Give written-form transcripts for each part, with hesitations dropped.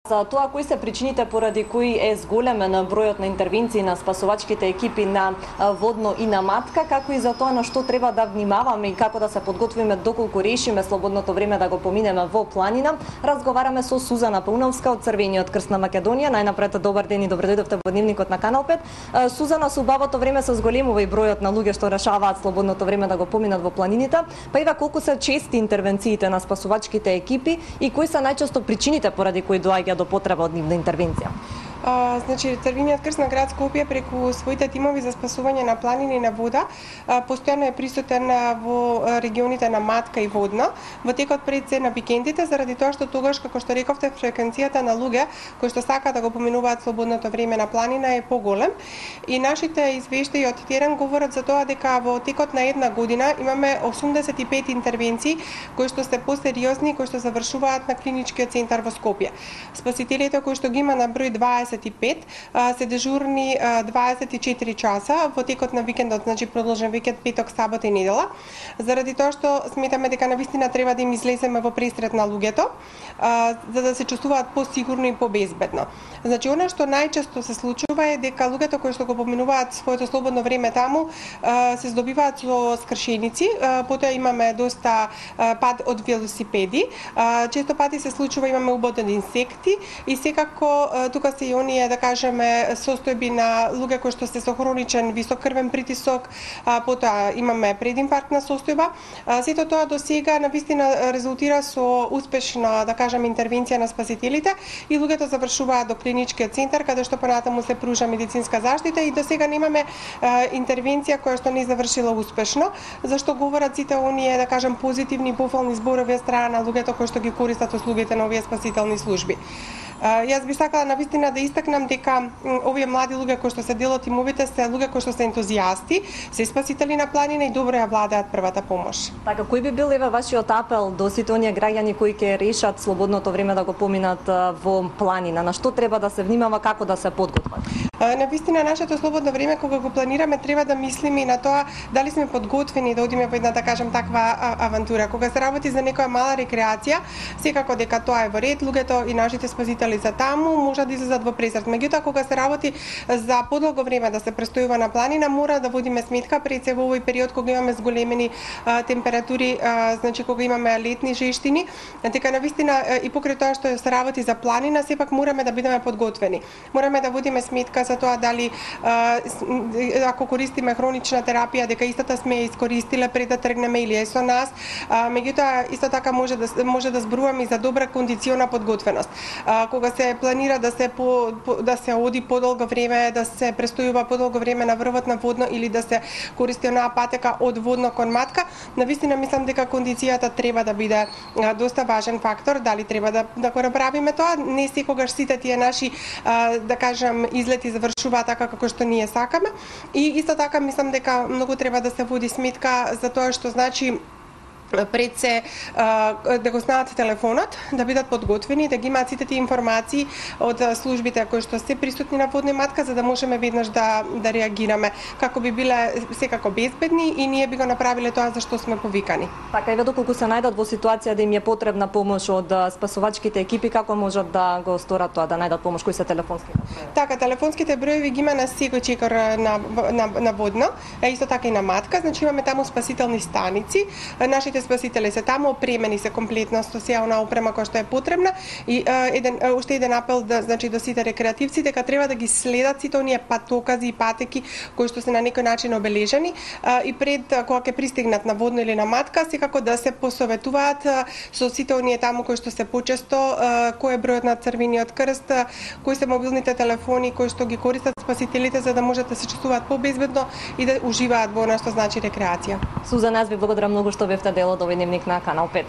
За тоа кои се причините поради кои е зголемен бројот на интервенции на спасувачките екипи на Водно и на Матка, како и за тоа на што треба да внимаваме и како да се подготвиме доколку решиме слободното време да го поминеме во планина, разговараме со Сузана Пауновска од Црвениот крст на Македонија. Најнапред добар ден и добре дојдовте во дневникот на Канал 5. Сузана, со убавото време се зголемува и бројот на луѓе што решаваат слободното време да го поминат во планините, па ива колку се чести интервенциите на спасувачките екипи и кои се најчесто причините поради кои доаѓа до потреба од нивна интервенција? Значи, Црвениот крст на град Скопје преку своите тимови за спасување на планини и на вода постојано е присутен во регионите на Матка и Водно во текот пред се на викендите, заради тоа што тогаш, како што рековте, фреквенцијата на луѓе кои што сакаат да го поминуваат слободното време на планина е поголем. И нашите извештаи од терен говорат за тоа дека во текот на една година имаме 85 интервенции кои што се посериозни, кои што завршуваат на клиничкиот центар во Скопје. Спасителите кои што ги има на број 25 се дежурни 24 часа во текот на викендот, значи продолжен викенд, петок, сабота и недела, заради тоа што сметаме дека навистина треба да им излеземе во пресред на луѓето, за да се чувствуваат посигурно и побезбедно. Значи, она што најчесто се случува е дека луѓето кои што го поминуваат своето слободно време таму се здобиваат со скршеници, потоа имаме доста пад од велосипеди, често пати се случува имаме убод од инсекти и секако тука се и оние, да кажеме, состојби на луѓе кои што се со хроничен висок крвен притисок, потоа имаме прединфарктна состојба. Сето тоа до сега навистина резултира со успешна, да кажеме, интервенција на спасителите и луѓето завршуваат до клиничкиот центар каде што понатаму се пружа медицинска заштита и до сега немаме интервенција која што не завршила успешно, зашто говорат сите оние, да кажем, позитивни пофални зборови од страна на луѓето кои што ги користат услугите на овие спасителни служби. Јас би сакала навистина да истакнам дека овие млади луѓе кои што се дел од тимовите се луѓе кои што се ентузијасти, се спасители на планина и добро ја владеат првата помош. Така, кој би бил еве вашиот апел до сите оние граѓани кои ќе решат слободното време да го поминат во планина? На што треба да се внимава, како да се подготват? Навистина, нашето слободно време кога го планираме треба да мислиме и на тоа дали сме подготвени да одиме во една, да кажем, таква авантура. Кога се работи за некоја мала рекреација, секако дека тоа е во ред, луѓето и нашите спасители за таму можат да излезат во пресред. Меѓутоа, кога се работи за подолго време да се престојува на планина, мора да водиме сметка пред се во овој период кога имаме зголемени температури, значи кога имаме летни жештини, дека навистина и покрај тоа што се работи за планина, сепак мораме да бидеме подготвени. Мораме да водиме сметка за тоа дали ако користиме хронична терапија, дека истата сме ја искористиле пред да тргнеме или е со нас. Меѓутоа, исто така може да зборуваме и за добра кондициона подготвеност. Кога се планира да се оди подолго време, да се престојува подолго време на врвот на Водно или да се користи онаа патека од Водно кон Матка, навистина мислам дека кондицијата треба да биде доста важен фактор. Дали треба да го направиме тоа? Не секогаш сите тие наши, да кажам, излети завршуваат така како што ние сакаме. И исто така мислам дека многу треба да се води сметка за тоа што значи пред се да го знаат телефонот, да бидат подготвени, да ги имаат сите тие информации од службите кои што се присутни на Водно и Матка, за да можеме веднаш да реагираме, како би биле секако безбедни и ние би го направиле тоа за што сме повикани. Така, еве доколку се најдат во ситуација да им е потребна помош од спасувачките екипи, како можат да го сторат тоа, да најдат помош? Кои се телефонските броеви? Така, телефонските броеви ги има на секој чекор на Водно, исто така и на Матка, значи имаме таму спасителни станици. Нашите спасители се таму, опремени се комплетно со сеа онаа опрема која што е потребна и уште еден апел значи до сите рекреативци дека треба да ги следат сите оние патокази и патеки кои што се на некој начин обележани и пред кога ќе пристигнат на Водно или на Матка, секако да се посоветуваат со сите оние таму кои што се почесто, кој е бројот на Црвениот крст, кои се мобилните телефони кои што ги користат спасителите за да можат да се чувствуваат побезбедно и да уживаат во она што значи рекреација. Сузана, јас ви благодарам многу што бевте дел од овој дневник на Канал 5.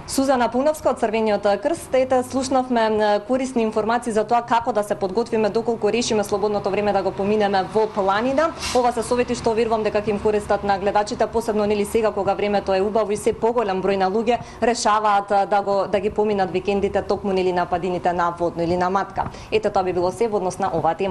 Сузана Пауновска од Црвениот крст, слушнавме корисни информации за тоа како да се подготвиме доколку решиме слободното време да го поминеме во планина. Ова се совети што верувам дека ќе им користат на гледачите, посебно нели сега кога времето е убаво и се поголем број на луѓе решаваат да ги поминат викендите токму нели на падините на Водно или на Матка. Ете, тоа би било се во однос на оваа тема.